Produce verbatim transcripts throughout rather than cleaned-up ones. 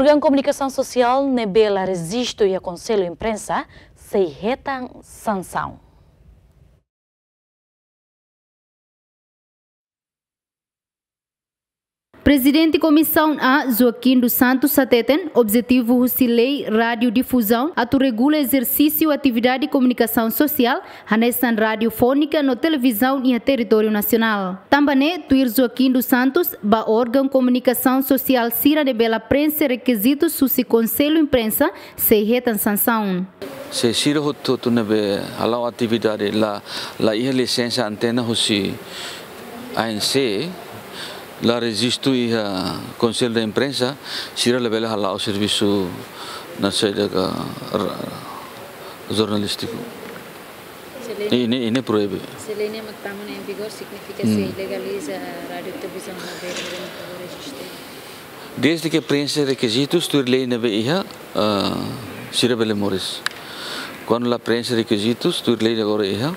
Órgaun komunikasaun sosiál ne'ebé la rejistu iha Konsellu Imprensa sei hetan sansaun. Prezidente Komisaun A, Joaquim dos Santos, hateten objetivu husi Lei Rádiu Difuzaun atu regula ezersísiu atividade komunikasaun sosiál, hanesan radiofónika no televizaun iha territóriu nasionál. Tanba ne'e, tuir Joaquim dos Santos, ba órgaun komunikasaun sosiál sira ne'ebé la preenxe rekizitus husi Konsellu Imprensa, sei hetan sansaun. Se sira hotu-hotu ne'ebé hala'o atividade la, la iha lisensa antena husi A N C, la rejistu iha Konsellu da Imprensa, sira labele hala'o servisu naran saida ka ra-, jornalístiku. Se lei, ne'e, ne'e, ne'e proibe. Se lei ne'e mak tama ne'e em vigor, signifika, hmm, sei legaliza rádiu televizaun ne'ebé la rejistu. Desde ke preenxe rekizitus tuir lei ne'ebé iha, ah, sira bele moris. Kuandu la preenxe rekizitus tuir lei agora iha,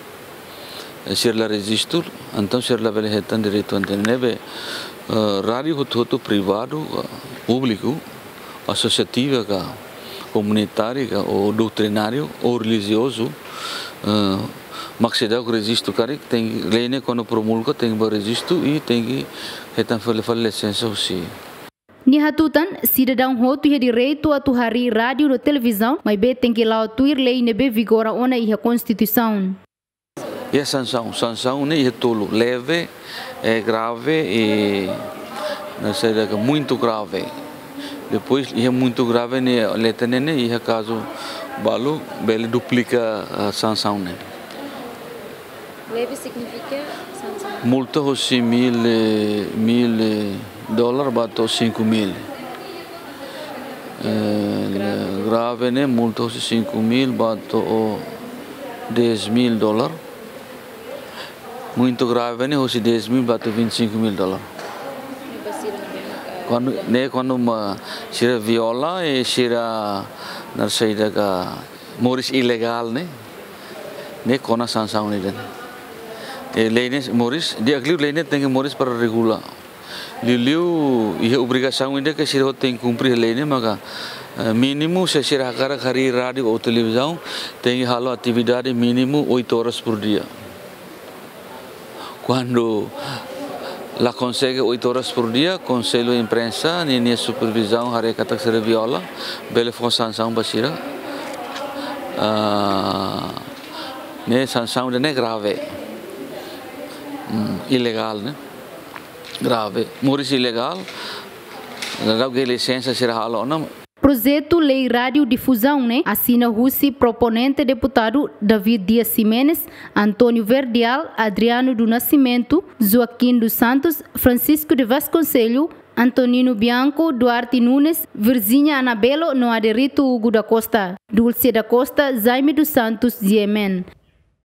eh, sira la rejistu, entaun sira labele hetan direitu antena ne'ebé, eh, rádiu hotu-hotu privadu, eh, públiku, asosiativu ka, komunitáriu ka, ou doutrináriu, ou relijiozu, eh, mak seidauk rejistu karik, tenke, lei ne'e kuandu promulga, tenke ba rejistu i tenke hetan fali, fali lisensa husi. Nia hatutan, sidadaun hotu iha direitu atu harii rádiu no televizaun, maibé tenke la'o tuir lei ne'ebé vigora ona iha Konstituisaun. Iha sansaun, sansaun ne'e iha tolu, leve, eh, grave i naran saida ka muito grave. Depois, iha muito grave ne'e, letra ne'e, ne'e iha kazu balu, bele duplika, ah, sansaun ne'e. Leve signifika sansaun? Multa husi mil, eh, mil, eh, dólar ba to'o cinco mil. Eh, grave ne'e multa husi cinco mil ba to'o dez mil dólar. Muito grave ne'e husi dez mil ba to'o vinte e cinco mil dólar. Ne'e ba sira ne'ebé, eh, kuandu, ne'e kuandu mak sira viola i sira naran saida ka moris ilegál ne'e, ne'e kona sansaun ida-ne'e. I lei ne'e moris, di'ak liu lei ne'e tenke moris para regula. Liuliu iha obrigasaun ida ke sira hotu tenke kumpre lei ne'e maka, eh, mínimu se sira hakarak harii rádiu ou televizaun, tenke halo atividade mínimu oito horas por dia. Kuandu la konsege oito horas por dia, Konsellu Imprensa, ninia supervizaun haree katak sira viola, bele fó sansaun ba sira. Ah, ne'e sansaun ida-ne'e grave. Hmm, ilegál, ne'e? Grave. Moris ilegál. Dadauk lisensa sira halo ona. Projetu Lei Rádiu Difuzaun ne'e asina husi proponente deputadu David Dias Ximenes, António Verdial, Adriano do Nascimento, Joaquim dos Santos, Francisco de Vasconcelos, Antonino Bianco, Duarte Nunes, Virginia Anabelo no Aderito Hugo da Costa, Dulce da Costa, Jaime dos Santos, G M N.